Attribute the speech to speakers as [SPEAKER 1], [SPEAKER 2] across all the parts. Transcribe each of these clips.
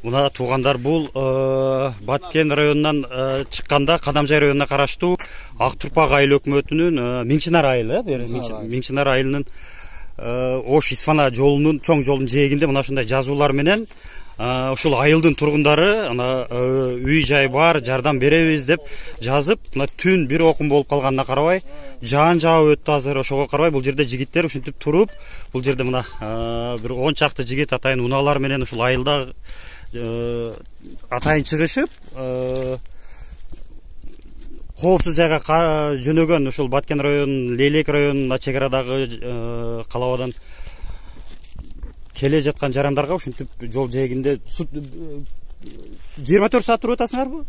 [SPEAKER 1] Мына туугандар, бул Баткен районунан чыкканда Кадамжай районуна караштуу Ак Турпак айыл өкмөтүнүн Миңчинар айылы, Миңчинар айылынын Ош Исфана жолунун чоң жолдун жээгинде мына ушундай жазуулар менен ушул айылдын тургундары үй жай бар, жардам беребиз деп жазып, мына түн бир окум болуп калганына карабай, жаан жаап өттү азыр. Ошого карабай бул жерде жигиттер ушинтип туруп, бул жерде мына бир 10 чакты жигит атайын унаалар менен ушул айылда атайын чыгышып, коопсуз жайга жөнөгөн ушул Баткен районунун Лейлек районуна чек арадагы калабадан келе жаткан жарандарга ушинтип жол жээгинде 24 саат туруп атасыңарбы?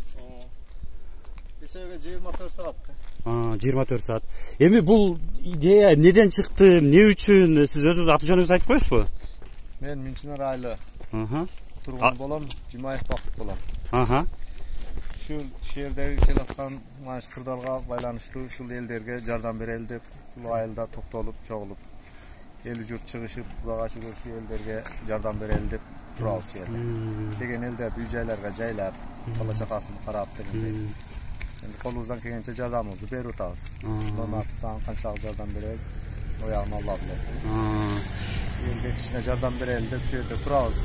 [SPEAKER 2] Эсебге 24 саат.
[SPEAKER 1] 24 саат. Эми бул идея неден чыкты, эмне үчүн? Сиз өзүңүз аты жөнүңүздү айтып коесузбу?
[SPEAKER 2] Мен Миңчинар айылы тургун болом, Жумаев Бакыт болом. Ушул шеердеги келаткан маш кырдаалга байланыштуу ушул элдерге жардам берели деп, ушул айылда токтолуп, чогулуп, эл журт чыгышып, Кудайга шүгүр ушул элдерге жардам берели деп турабыз жерде. Деген элдер үй жайларга жайлап, бала чакасын карап дегендей. Эми колубуздан келгенче жардамыбызды берип атабыз. Донаттан канчалык жардам беребиз, оягын Алла билет. Элге кичине жардам берели деп ушул жерде турабыз.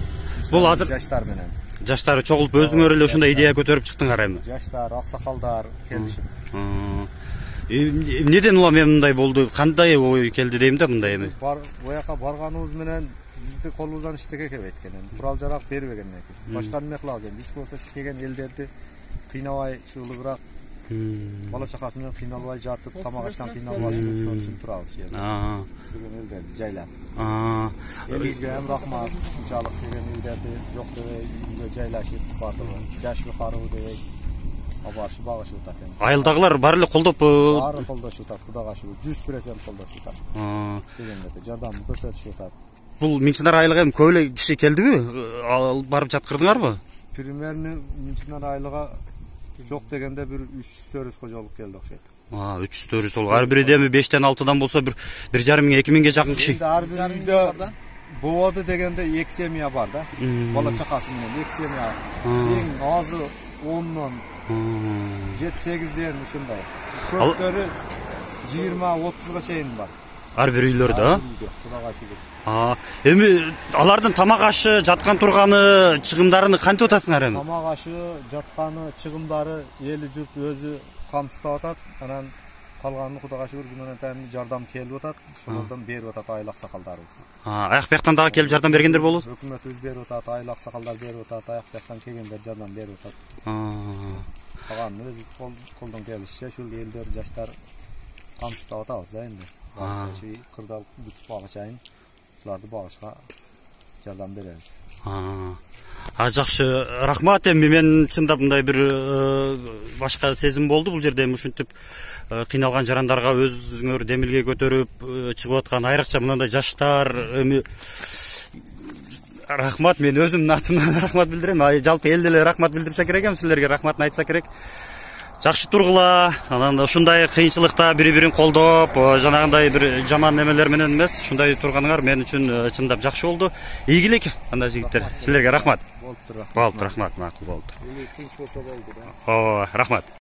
[SPEAKER 1] Бул азыр
[SPEAKER 2] жаштар менен.
[SPEAKER 1] Жаштары чогулуп өзүңөр эле ушундай идея көтөрүп чыктыңар эми?
[SPEAKER 2] Жаштар, аксакалдар келишип.
[SPEAKER 1] Неден улам эми мындай болду? Кандай ой келди дейм да мындай эми?
[SPEAKER 2] Бояка барганыбыз менен бизди колубуздан иштеке келбейт экен. Курал жарак бербеген экен. Башка неме кылабыз эми? Эч болсо келген элдерди кыйнабай, чыгылыгыраак бала чакасы менен кыйналбай жатып, тамак аштан кыйналбасын деп ошон үчүн турабыз жерде. Келген элдерди жайлап. Элибизге ham рахмат, ушунчалык келген элдерди жок дебей үйгө жайлашып бардыгы. Жаш каруу дебей абарышып багышып атат эми.
[SPEAKER 1] Айылдагылар баары эле колдоп,
[SPEAKER 2] баары колдошуп атат, Кудайга шүгүр. 100% колдошуп атат. Дегендерди жардам көрсөтүшүп атат.
[SPEAKER 1] Бул Миңчинар айылга эми көп эле киши келдиби? Барып жаткырдыңарбы?
[SPEAKER 2] Примерно Миңчинар айылга жок дегенде бир 300-400 кожолук келди окшойт.
[SPEAKER 1] 300-400 сол. Ар бири эми 5-тен 6-дан болсо бир 1,5-2 жакын киши.
[SPEAKER 2] Ар бир үйдө болду дегенде 2 семья бар да. Бала чакасы менен 2 семья. Эң азы 10дон 7-8ден ушундай. Көптөрү 20-30га чейин бар.
[SPEAKER 1] Ар бир үйлөрдө,
[SPEAKER 2] Кудайга шүгүр.
[SPEAKER 1] Эми алардын тамак ашы, жаткан турганы, чыгымдарын кантип атасыңар эми?
[SPEAKER 2] Тамак ашы, жатканы, чыгымдары эли журт өзү камсыздап атат. Анан калганын Кудайга шүгүр гүмөнөтөн жардам келип атат. Ошолордон берип атат айыл аксакалдарыбыз.
[SPEAKER 1] Аяк бияктан дагы келип жардам бергендер болот?
[SPEAKER 2] Өкмөтүбүз берип атат, айыл аксакалдар берип атат, аяк бияктан келгендер жардам берип атат. Калганын өзүбүз колдон келишче ушул элдер, жаштар камсыздап атабыз да энди. Кырдаал бүтүп багычайын ушуларды багышка жардам беребиз.
[SPEAKER 1] Жакшы, рахмат. Эми мен чындап мындай бир башка сезим болду бул жерде. Эми ушинтип кыйналган жарандарга өзүңөр демилге көтөрүп чыгып аткан айрыкча мындай жаштар эми рахмат. Мен өзүмдүн атымдан рахмат билдирем. Жалпы эл деле рахмат билдирсе керек эми, силерге рахматын айтса керек. Жакшы тургула, анан ушундай кыйынчылыкта бири-бирин колдоп, жанагындай бир жаман немелер менен эмес, ушундай турганыңар мен үчүн чындап жакшы болду. Ийгилик, андай жигиттер. Силерге рахмат. Болуптур, рахмат, макул болду. Элибиз тынч болсо болду да. Рахмат.